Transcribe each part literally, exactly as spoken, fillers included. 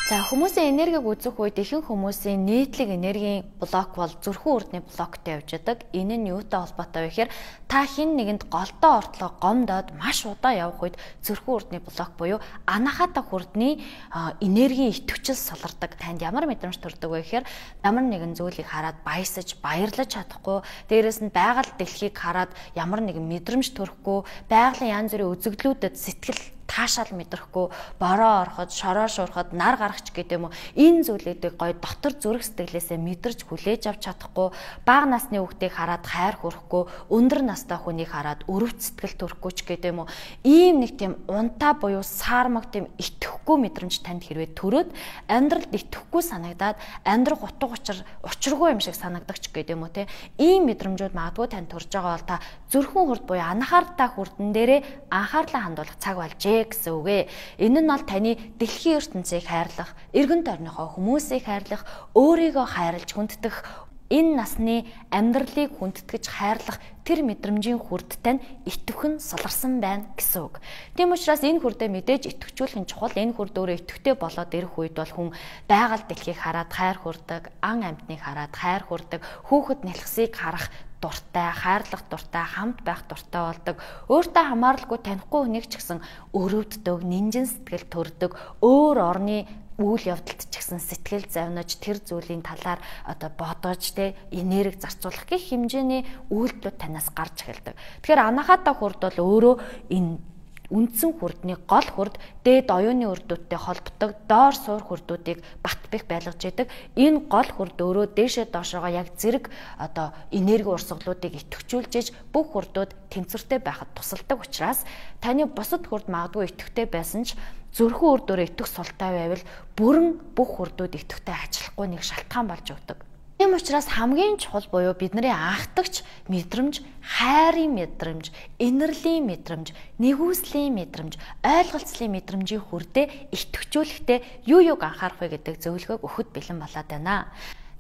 За хүмүүсийн энергийг үзэх үед ихэнх хүмүүсийн нийтлэг энергийн блок бол зүрхэн үрдний блоктой явж байдаг. Энэ нь юутай холбоотой вэ гэхээр та хин нэгэнд голдоо ортлоо гомдоод маш удаан явах үед зүрхэн үрдний блок буюу анаахата хүрдний энергийн итвчил солирдог. Танд ямар мэдрэмж төрдөг вэ гэхээр ямар нэгэн зүйлийг хараад баясаж, баярлаж чадахгүй, дээрэс нь байгаль дэлхийг хараад ямар нэгэн мэдрэмж төрөхгүй, байгалийн янз бүрийн үзэгдлүүдэд сэтгэл таашаал мэдрэхгүй, бороо ороход, шороо шуурхад, нар гаргач гэдэг юм уу. Энэ зүйлүүдийг гоё дотор зүрх сэтгэлээсээ мэдэрч хүлээж авч чадахгүй, бага насны хүүхдийг хараад хайр хүрхгүй, өндөр настай хүнийг хараад өрөвт сэтгэл төрөхгүй ч гэдэг юм уу. Ийм нэг тийм унтаа буюу саармаг тийм итгэхгүй мэдрэмж танд хэрвээ төрөөд амьдралд итгэхгүй санагдаад амьдрах утга учир учиргүй юм шиг санагдаг ч гэдэг юм уу те. Ийм мэдрэмжүүд магадгүй танд төрж байгаа бол та зүрхэн хүрд буюу анхааралтай хүрдэн дээрээ анхаарлаа хандуулах цаг болж гэсэн үг ээ. Энэ нь бол таны дэлхийн ертөнцийг хайрлах, эргэн тойрныхоо хүмүүсийг хайрлах, өөрийгөө хайрлж хүнддэх, энэ насны амьдралыг хүндэтгэж хайрлах тэр мэдрэмжийн хүрдтэй нь итгэхэн суларсан байна гэсэн үг. Тийм учраас энэ хүрдээ мэдээж итгэжүүлэх нь чухал. Энэ хүрд өөрөө итгэвтэй болоод ирэх үед бол хүн байгаль дэлхийг хараад хайр хүрдэг, ан амьтныг хараад хайр хүрдэг, хүүхэд нэлхсийг харах дуртай, хайрлах дуртай, хамт байх дуртай болдог. Өөртөө хамааралгүй танихгүй хүнийг ч гэсэн өрөвддөг, нинжин сэтгэл төрдөг, өөр орны үйл явдалд ч гэсэн сэтгэл завнаж тэр зүйлийн талаар одоо бодож тэ энерги зарцуулах гэх хэмжээний үйлдэлүүд танаас гарч эхэлдэг. Тэгэхээр анаахата хүрд бол өөрөө энэ үндсэн хүрдний гол хүрд дээд оюуны үрдүүдтэй холбдог доор суур хүрдүүдийг бат бэх байлгаж яадаг. Энэ гол хүрд өөрөө дээшээ доошоогоо яг зэрэг одоо энерги урсгалуудыг идэвхжүүлж бүх хүрдүүд тэнцвэртэй байхад тусалдаг учраас таны бусад хүрд магадгүй идэвхтэй байсан ч зүрхэн үрдөөрөө итэх султай байвал бүрэн бүх хүрдүүд идэвхтэй ажиллахгүй нэг шалтгаан болж өгдөг. Тийм учраас хамгийн чухал буюу бидний анхдагч мэдрэмж, хайрын мэдрэмж, инэрлийн мэдрэмж, нэгүслийн мэдрэмж, ойлголцлын мэдрэмжийн хүрдээ идэвхжүүлэхдээ юу юуг анхаарах вэ гэдэг зөвлөгөөг өгөхөд бэлэн болоод байна.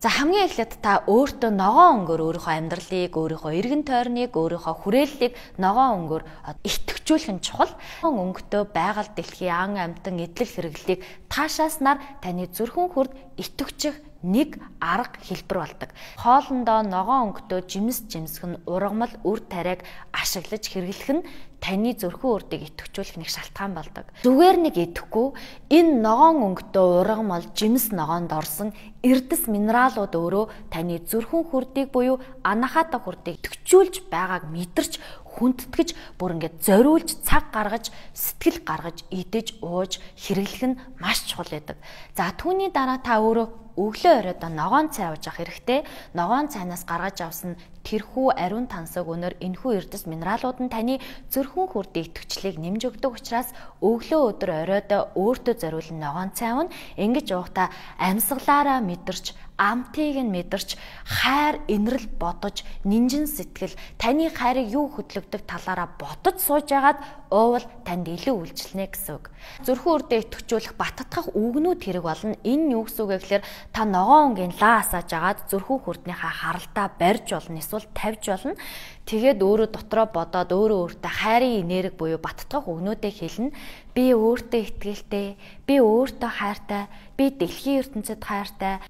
За хамгийн эхлээд та өөртөө ногоон өнгөөр өөрийнхөө амьдралыг, өөрийнхөө эргэн тойрныг, өөрийнхөө хүрээллийг ногоон өнгөөр идэвхжүүлэх нь чухал. Өнгөтэй байгаль дэлхийн ан амьтан эдлэг хэрэглэлийг таашааснаар таны зүрхэн хүрд идэвхжих нэг арга хэлбэр болдог. Хоолндоо ногоон өнгөтэй жимс жимсэх нь ургамал үр тариаг ашиглаж хэрэглэх нь таны зүрхэн үрдийг идэвхжүүлэх нэг шалтгаан болдог. Зүгээр нэг идэхгүй энэ ногоон өнгөтэй ургамал жимс ногоонд орсон эрдэс минералууд өөрөө таны зүрхэн хүрдийг буюу анаахата хүрдийг идэвхжүүлж байгааг мэдэрч хүндэтгэж бүр ингээд зориулж цаг гаргаж сэтгэл гаргаж идэж ууж хэрэглэх нь маш чухал байдаг. За түүний дараа та өөрөө өглөө оройдоо ногоон цай ууж авах хэрэгтэй. Ногоон цайнаас гаргаж авсан тэрхүү ариун тансаг өнөр энэхүү эрдэс минералууд нь таны зүрхэн хүрдийн идэвхжлийг нэмж өгдөг учраас өглөө өдөр оройдоо өөртөө зориулсан ногоон цай уун ингэж уухдаа амьсгалаараа мэдэрч амтыг нь мэдэрч хайр инэрл бодож нинжин сэтгэл таны хайрыг юу хөдлөгдөг талаараа бодож сууж агаад уувал танд илүү үйлчлэнэ гэсэн үг. Зүрхэн үрдээ идэвхжүүлэх баттгах үгнүүд хэрэг болно. Энэ юу гэсэн үг вэ гэхээр та ногоон өнгийн лаа асааж агаад зүрхэн хүрднийхаа харалтаа барьж болно, эсвэл тавьж болно. Тэгээд өөрөө дотроо бодоод өөрөө өөртөө хайрын энерги буюу баттгах үгнүүдээ хэлнэ. Би өөртөө итгэлтэй, би өөртөө хайртай, би дэлхийн ертөнцид хайртай,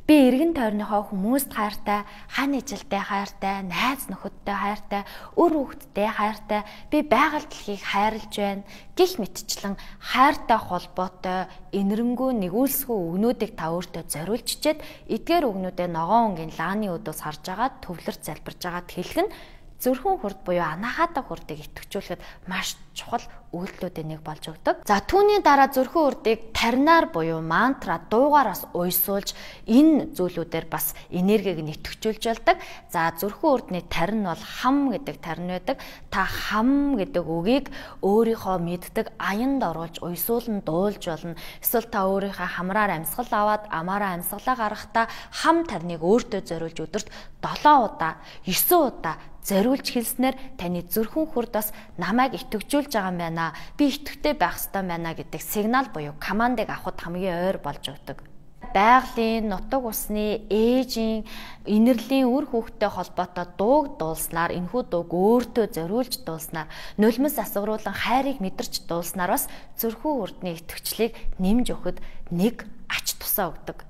би эргэн тойрныхоо хүмүүст хайртай, хань ижилтэй хайртай, найз нөхөдтэй хайртай, өр хүүхэдтэй хайртай, би байгаль дэлхийг хайрлаж байна гэх мэтчлэн хайртай холбоотой энэрэнгүй нэгүүлсгүй үгнүүдийг та өөртөө зориулж чичээд эдгээр үгнүүдээ ногоон өнгийн лааны өдөөс харж агаад төвлөрч залбирж агаад хэлэх нь зүрхэн хүрд буюу анаахата хүрдийг идэвхжүүлэхэд маш чухал үйлдэлүүдийн нэг болж өгдөг. За түүний дараа зүрхэн үрдийг таринаар буюу мантра дуугаараас уйсуулж энэ зүйлүүдээр бас энергийг нь идэвхжүүлж болдог. За зүрхэн үрдний тарин бол хам гэдэг тарин байдаг. Та хам гэдэг үгийг өөрийнхөө мэддэг аянд оруулж уйсуулн дуулж болно. Эсвэл та өөрийнхөө хамраар амьсгал аваад амаараа амьсгалаа гаргахдаа хам тариныг өөртөө зориулж өдөрт долоо удаа, есен удаа зориулж хэлснээр таны зүрхэн хүрд бас намайг идэвхжүүлж байгаа юм байна. Би идэвхтэй байх ёстой байна гэдэг сигнал буюу командыг авахд хамгийн ойр болж өгдөг. Байгалийн, нутаг усны, ээжийн, инэрлийн үр хүүхдтэй холбоотой дууг дуулснаар энэхүү дууг өөртөө зориулж дуулснаар нулимс асвруулан хайрыг мэдэрч дуулснаар бас зүрхэн үрдний идэвхжлийг нэмж өгөхөд нэг тусаа өгдөг.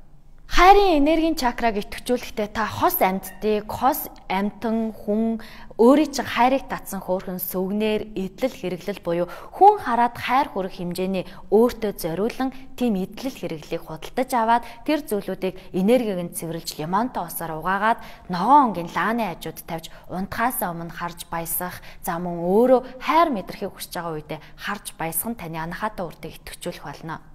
Хайрын энергийн чакраг идэвхжүүлэхдээ та хос амьтдыг, хос амьтан хүн өөрийн чинь хайрыг татсан хөөрхөн сүгнээр эдлэл хэрэглэл буюу хүн хараад хайр хүрэх хэмжээний өөртөө зориулан тийм эдлэл хэрэглийг худалдаж аваад тэр зүйлүүдийг энергиг нь цэвэрлж лимонтой усаар угаагаад ногоон онгийн лааны хажууд тавьж унтахаасаа өмнө харж баясах, за мөн өөрөө хайр мэдрахийг хүсэж байгаа үедээ харж баясах нь таны анхаатай үрдийг идэвхжүүлэх болно.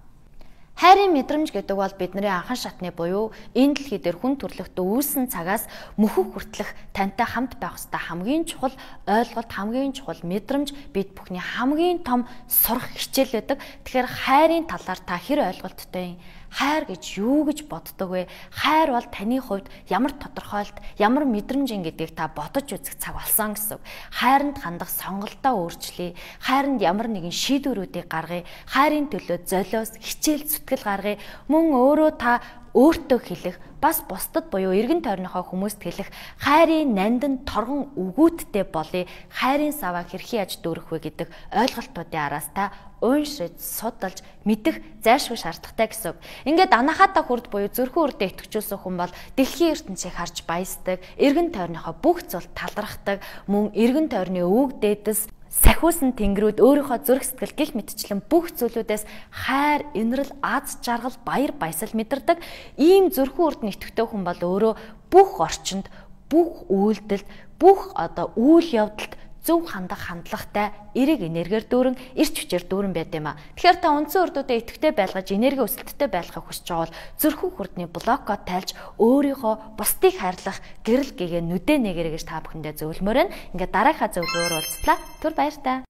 Хайрын мэдрэмж гэдэг бол бидний анхан шатны буюу энэ дэлхий дээр хүн төрлөختөө үүсэн цагаас мөхөх хүртэлх тантай хамт байх ёстой хамгийн чухал ойлголт, хамгийн чухал мэдрэмж, бид бүхний хамгийн том сурах хичээл байдаг. Тэгэхээр хайрын талаар та хэр ойлголттой юм? Хайр гэж юу гэж боддог вэ? Хайр бол таны хувьд ямар тодорхойлт, ямар мэдрэмж гэдгийг та бодож үзэх цаг болсон гэсэн. Хайранд хандах сонголтоо өөрчлөе. Хайранд ямар нэгэн шийдвэрүүдийг гаргая. Хайрын төлөө золиос хичээл зүтгэл гаргая. Мөн өөрөө та өөртөө хэлэх, бас бусдад буюу эргэн тойрныхоо хүмүүст хэлэх хайрын нандин торгон үгүүдтэй болъё. Хайрын саваа хэрхэн яаж дүүрэх вэ гэдэг ойлголтуудын араас та ууншиж, судалж, мэдэх зайлшгүй шаардлагатай гэсэн. Ингээд анахаатаа хүрд буюу зүрхэн үрдээ идэвхжүүлсэн хүн бол дэлхийн ертөнцийг харж баясдаг, эргэн тойрныхоо бүх зүйлд талархдаг, мөн эргэн тойрны өвөг дээдэс сахиусан тэнгэрүүд өөрийнхөө зүрх сэтгэл гих мэтчлэн бүх зүйлүүдээс хайр, инрэл, аз жаргал, баяр баясгал мэдэрдэг. Ийм зүрхэн үрдэн идэвхтэй хүн бол өөрөө бүх орчинд, бүх үйлдэлд, бүх одоо үйл явдалд зөв хандах хандлагатай эрэг энергиэр дүүрэн, эрч хүчээр дүүрэн байд юм а. Тэгэхээр та үндсэн үрдүүдэд идэвхтэй байлгаж энерги өсөлттэй байхыг хүсэж байгаа бол зүрхэн хүрдний блокод тайлж өөрийнхөө бусдыг хайрлах гэрэл гэгээ нүдэ нэгэрэ гэж та бүхэндээ зөвлөмөр байна. Ингээд дараагийн зөвлөгөөр уулзлаа. Түр баяр та.